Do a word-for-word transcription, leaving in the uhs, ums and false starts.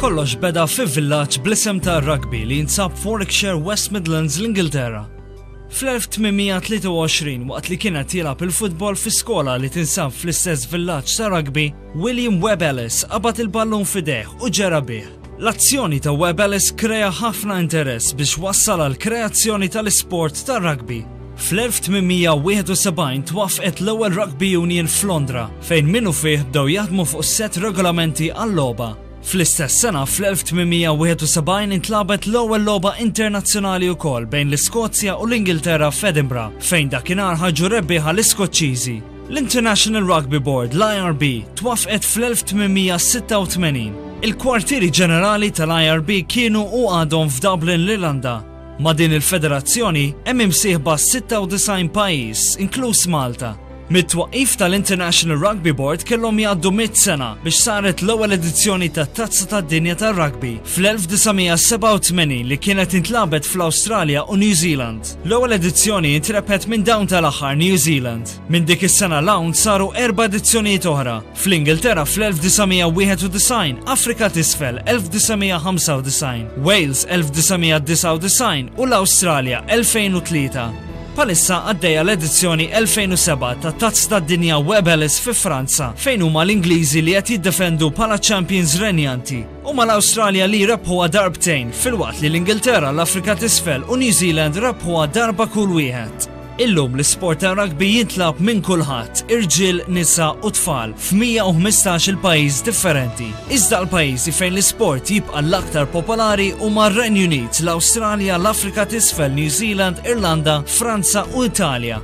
Kollox beda fi villaġġ bl-isem ta' Rugby li jinsab Warwickshire, West Midlands, l-Ingilterra. Fl-elf tmien mija tlieta u għoxrin, waqt li kienet jilgħab il-futbol fi skola li tinsab fl-istess villaġġ ta' Rugby, William Webb Ellis qabad il-ballun f'idejh u ġera bih. L-azzjoni ta' Webb Ellis krea ħafna interess biex wassal għal kreazzjoni tal-isport ta' rugby. Fl-elf tmien mija wieħed u sebgħin twaffqet l-ewwel Rugby Union f'Londra, fejn minnu fih bdew jaħdmu fuq set regolamenti għall-logħba. Fl-istess sena, fl-elf tmien mija wieħed u sebgħin, intlagħbet l-ewwel logħba internazzjonali wkoll bejn l-Iskozja u l-Ingilterra f'Edinburgh, fejn dakinhar ħarġu rebbieħa l-Iskoċċiżi. L-International Rugby Board, l-I R B, twaffqet fl-elf tmien mija sitta u tmenin. Il-kwartieri ġenerali tal-I R B kienu u għadhom f'Dublin, l-Irlanda. Ma' din il-federazzjoni hemm imsieħba sitta u disgħin pajjiż, inkluż Malta. Mit-twaqif tal-International Rugby Board kellhom jgħaddu mitt sena biex saret l-ewwel edizzjoni ta' Tazza tad-Dinja tar-Rugby fl-elf disa' mija sebgħa u tmenin, li kienet intlagħbet fl-Awstralja u New Zealand. L-ewwel edizzjoni intrebħet minn dawn tal-aħħar, New Zealand. Minn dik is-sena 'l hawn saru erba' edizzjonijiet oħra. Fl-Ingilterra fl-elf disa' mija wieħed u disgħin, Afrika t'Isfel elf disa' mija ħamsa u disgħin, Wales elf disa' mija disgħa u disgħin u l-Awstralja elfejn u tlieta. Bħalissa għaddejja l-edizzjoni elfejn u sebgħa ta' Tazza tad-Dinja Webb Ellis fi Franza, fejn huma l-Ingliżi li qed jiddefendu bħala champions renjanti. Huma l-Awstralja li rebħuha darbtejn, filwaqt li l-Ingilterra, l-Afrika t'Isfel u New Zealand rebħuha darba kull wieħed. Illum l-isport ta' rugby jintlagħab minn kulħadd, irġiel, nisa u tfal, f'mija u ħmistax il pajjiż differenti. Iżda l-pajjiżi fejn l-isport jibqa' l-aktar popolari huma r-Renju Unit, l-Awstralja, l-Afrika t'Isfel, New Zealand, Irlanda, Franza u Italja.